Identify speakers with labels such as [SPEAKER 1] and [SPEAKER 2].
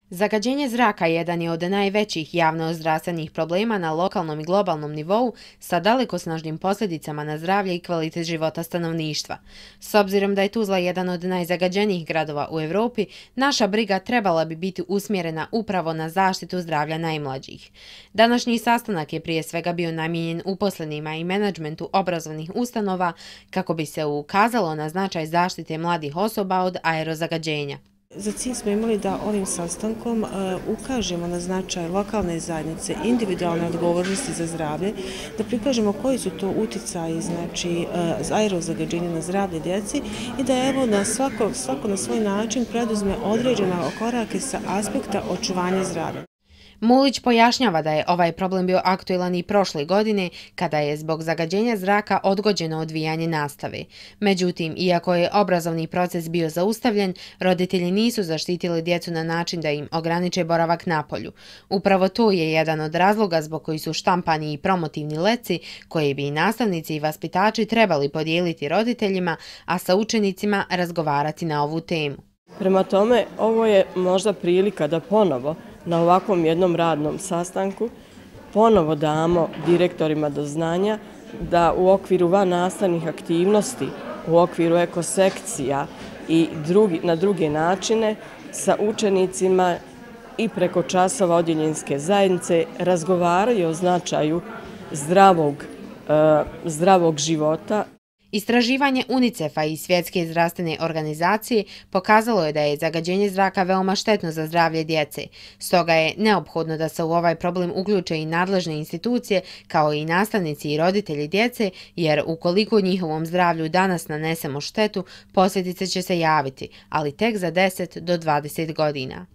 [SPEAKER 1] Zagađenje zraka jedan je od najvećih javno-zdravstvenih problema na lokalnom i globalnom nivou sa dalekosnažnim posljedicama na zdravlje i kvalitet života stanovništva. S obzirom da je Tuzla jedan od najzagađenijih gradova u Europi, naša briga trebala bi biti usmjerena upravo na zaštitu zdravlja najmlađih. Današnji sastanak je prije svega bio namijenjen uposlenima i menadžmentu obrazovnih ustanova kako bi se ukazalo na značaj zaštite mladih osoba od aerozagađenja.
[SPEAKER 2] Za cilj smo imali da ovim sastankom ukažemo na značaj lokalne zajednice, individualne odgovornosti za zdravlje, da prikažemo koji su to uticaji, znači aerozagađenja na zdravlje djeci i da evo na svako na svoj način preduzme određene korake sa aspekta očuvanja zdravlja.
[SPEAKER 1] Mulić pojašnjava da je ovaj problem bio aktuelan i prošle godine kada je zbog zagađenja zraka odgođeno odvijanje nastave. Međutim, iako je obrazovni proces bio zaustavljen, roditelji nisu zaštitili djecu na način da im ograniče boravak napolju. Upravo to je jedan od razloga zbog koji su štampani i promotivni letci koje bi i nastavnici i vaspitači trebali podijeliti roditeljima, a sa učenicima razgovarati na ovu temu.
[SPEAKER 3] Prema tome, ovo je možda prilika da ponovo na ovakvom jednom radnom sastanku ponovo damo direktorima do znanja da u okviru vannastavnih aktivnosti, u okviru ekosekcija i na druge načine sa učenicima i preko časova odjeljenjske zajednice razgovaraju o značaju zdravog života.
[SPEAKER 1] Istraživanje UNICEF-a i Svjetske zdravstvene organizacije pokazalo je da je zagađenje zraka veoma štetno za zdravlje djece. Stoga je neophodno da se u ovaj problem uključe i nadležne institucije kao i nastavnici i roditelji djece, jer ukoliko njihovom zdravlju danas nanesemo štetu, posljedice će se javiti, ali tek za 10 do 20 godina.